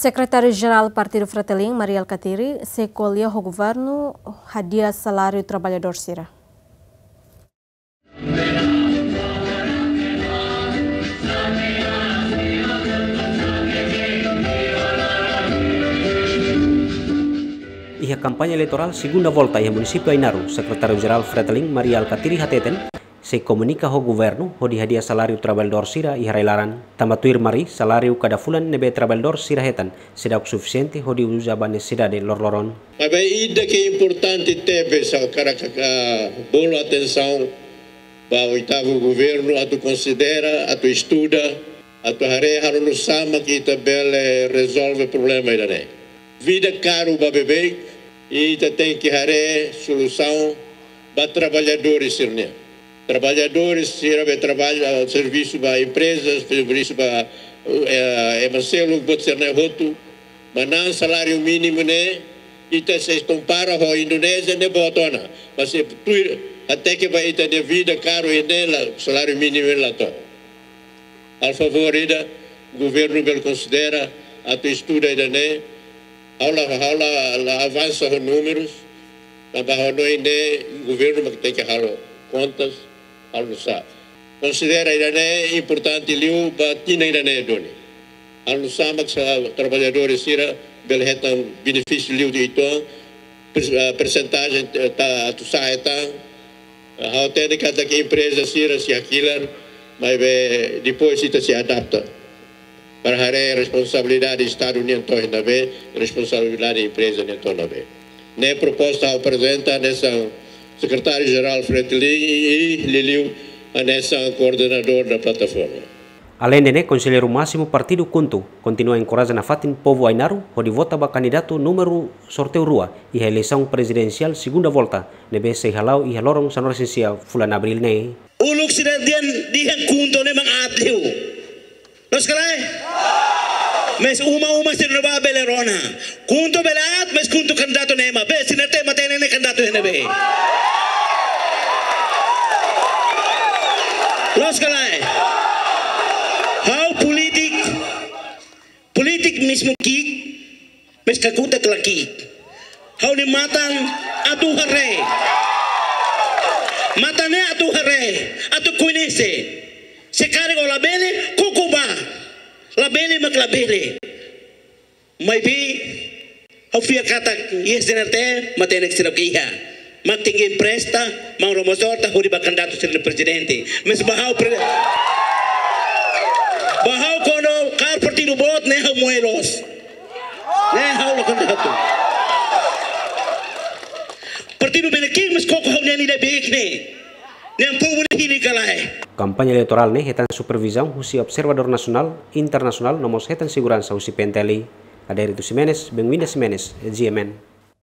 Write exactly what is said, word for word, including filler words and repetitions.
Sekretáriu-Jerál Partidu Fretilin, Mari Alkatiri, sei ko'alia ho governu hadi'a saláriu traballadór sira. Iha kampaña eleitorál segunda volta iha munisípiu Ainaro, Sekretáriu-Jerál Fretilin, Mari Alkatiri hateten, sei komunika ho governu hodi hadi'a saláriu traballadór sira iha rai-laran. Tanba tuir Mari, saláriu kada fulan ne'ebé traballadór sira hetan seidauk sufisiente hodi uza ba nesesidade loroloron. Maibé ida ke importante tebes ha'u hakarak bolu atensaun ba oitavu governu atu konsidera, atu estuda, atu haree halo nu'usá mak ita bele rezolve problema ida-ne'e. Vida karu ba beibeik, ita tenke haree solusaun ba traballadór sira-nian. Traballadór sira be traballa, servisu ba emprezas, servisu ba, eh, ema seluk, buat sira-ne'e hotu. Manán saláriu mínimu ne'e, ita se kompara ho Indonézia ne'e boot ona. Mas se tuir hateke ba ita-nia vida karu ne'e la, saláriu mínimu la to'o. Halo favór ida, governu bele konsidera atu estuda ida-ne'e, ha'u la, ha'u la, la avansa ho númerus, tanba ha'u hanoin ne'e governu mak tenke halo kontas, halo nu'usá. Konsidera ida-ne'e importante liu ba tinan ida-ne'e duni. Halo nu'usá mak traballadór sira bele hetan benefísiu liu di itu, pers-, ah, persentajen, eh, ta, atu sa'e tan, ha'u hatene katak empreza sira sei hakilar, maibé depois ita sei adapta. Para haree responsabilidade Estadu nian to'o iha ne'ebé, responsabilidade empreza nian to'o iha ne'ebé. Ne'e proposta ha'u aprezenta hanesan Sekretáriu-Jerál Fretilin i, i liuliu hanesan koordenadór da plataforma. Aleinde ne'e, Konselleiru Másimu Partidu KHUNTO kontinua enkoraja nafatin povu Ainaro hodi vota ba kandidatu númeru sorteiu rua iha eleisaun prezidensiál segunda volta ne'ebé sei hala'o iha loron sanulu-resin-sia fulan Abríl ne'e. Uluk sira dehan, dehan KHUNTO ne'e mak aat liu. Loos ka lae? Mas uma-uma sira ne'ebá bele rona. KHUNTO bele aat, mas KHUNTO kandidatu ne'e ema. Be, sira hatene matenek ne'e kandidatu ne'ebé. Loos ka lae? Ha'u polítiku, polítiku mezmu ki'ik, mas kakutak la ki'ik. Ha'u-nia matan atu haree. Matan ne'e atu haree, atu koñese. Se karik ó labele, koko bá. Labele mak labele. Maibé, ha'u fiar katak iha S D N R T, matenek seidauk iha. Mak tenke empresta, maun Ramos Horta, hodi ba kandidatu sira prezidente. Mas ba ha'u pre-, ba ha'u kuandu kaer partidu boot, ne'e ha'u moe loos. Ne'e ha'u la kandidatu. Partidu bele ki'ik, mas koko ha'u-nian ida beik ne'e. Ne'e povu ne'e hili ka lae. Kampaña eleitorál ne'e hetan supervizaun husi observadór nasionál, internasionál, no mós hetan seguransa husi P N T L. Adérito Ximenes, Benguinda Ximenes, G M N.